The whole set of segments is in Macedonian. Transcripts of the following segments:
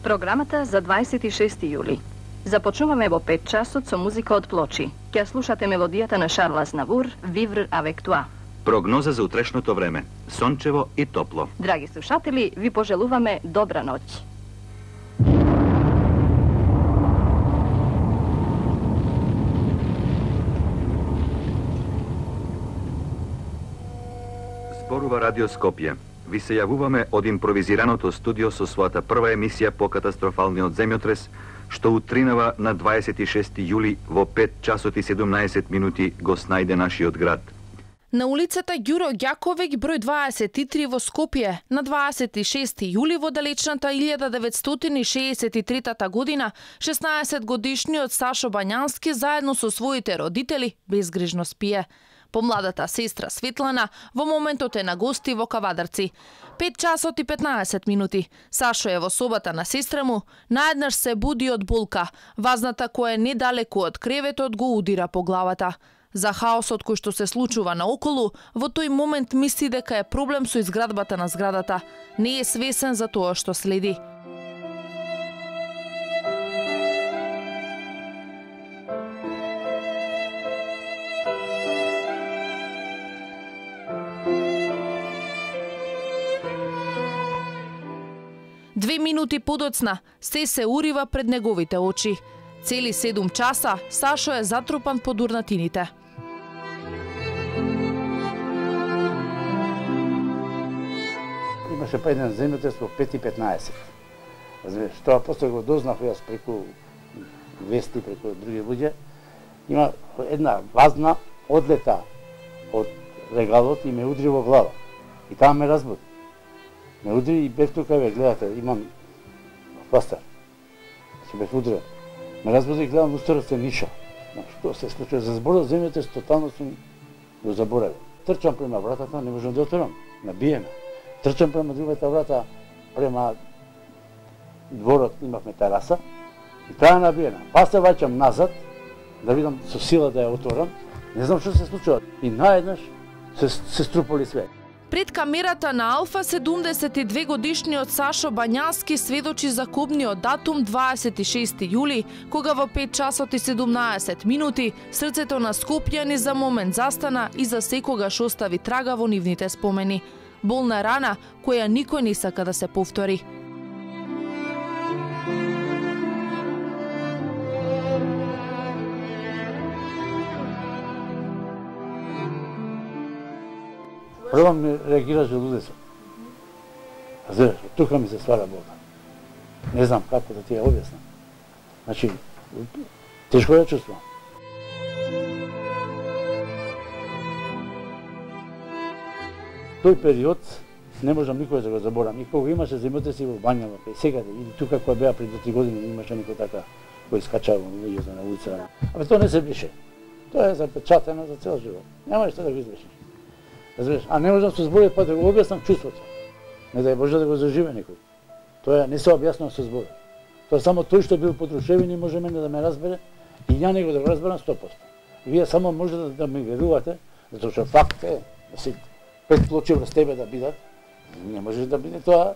Програмата за 26 јули. Започнуваме во 5 часот со музика од Плочи. Ќе слушате мелодијата на Шарл Азнавур, Vivre avec toi. Прогноза за утрешното време. Сончево и топло. Драги слушатели, ви пожелуваме добра ноќ. Зборува Радио Скопје. Ви се јавуваме од импровизираното студио со својата прва емисија по катастрофалниот земјотрес, што утринава на 26 јули во 5 часот и 17 минути го снајде нашиот град. На улицата Ѓуро Ѓаковеќ број 23 во Скопје на 26 јули во далечната 1963 година 16-годишниот Сашо Бањански заедно со своите родители безгрижно спие. Помладата сестра Светлана во моментот е на гости во Кавадарци. 5 часот и 15 минути. Сашо е во собата на сестра му, наеднаш се буди од болка. Вазната која е недалеку од креветот го удира по главата. За хаосот кој што се случува наоколу, во тој момент мисли дека е проблем со изградбата на зградата. Не е свесен за тоа што следи. Две минути подоцна, се урива пред неговите очи. Цели 7 часа, Сашо е затрупан под урнатините. Имаше па еден земјотрес во 5:15. Тоа после го дознав јас преку вести, преку други луѓе. Има една вазна одлета од регалот и ме удри во глава. И таа ме разбуди. Ме удри и бев тука, гледате, имам пастар. Се бев удрен. Ме разбуди и гледам устарот се ниша. Што се случува? За зборот земјотрес тотално сум го заборавил. Трчам према вратата, не можам да отворам. Набиеме. Трчам према другата врата, према дворот имавме тераса и таа набиена. Па се ваќам назад да видам со сила да ја отворам. Не знам што се случува. И наеднаш се струполи све. Пред камерата на Алфа 72 годишниот Сашо Бањански сведочи за кобниот датум 26 јули, кога во 5 часот и 17 минути срцето на скопјани за момент застана и за секогаш остави трага во нивните спомени. Болна рана која никој не сака да се повтори. Прво ми реагира желудецот. Знаеш, тука ми се ствара болка. Не знам како да ти ја објаснам. Значи, тешко ја чувствувам. Тој период не можам никој да го заборам. И кога имаше земјотреси во Бањава, сега или тука која беа пред 3 години, имаше некој така кој скачава луѓето на улица. Абе тоа не се беше. Тоа е запечатено за цел живот. Нема што да го извршиш. Разбираш, а не можам со зборови па да го објаснам чувството. Не дај Боже да го заживе некој. Тоа не се објаснува со зборови. Тоа само тој што бил потрушевен и може мене да ме разбере и ја него да го разберам 100%. И вие само може да ме верувате, затоа што факт е да си 5 плочи врз тебе да бидат, не може да биде тоа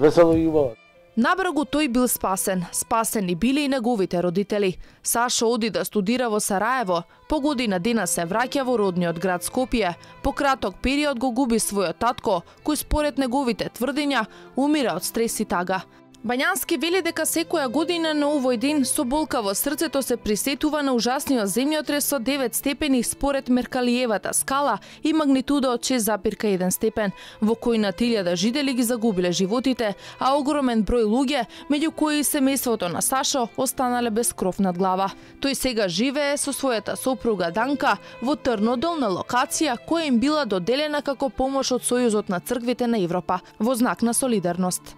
весело и убаво. Набрзо тој бил спасен. Спасени били и неговите родители. Сашо оди да студира во Сараево. По година дена се враќа во родниот град Скопје. По краток период го губи својот татко, кој според неговите тврдења умира од стрес и тага. Бањански вели дека секоја година на овој ден со болка во срцето се присетува на ужасниот земјотрес со 9 степени според Меркалиевата скала и магнитуда од 6,1 степен, во кој на 1000 жители ги загубиле животите, а огромен број луѓе, меѓу кои и семејството на Сашо, останале без кров над глава. Тој сега живее со својата сопруга Данка во Трнодол на локација која им била доделена како помош од Сојузот на црквите на Европа во знак на солидарност.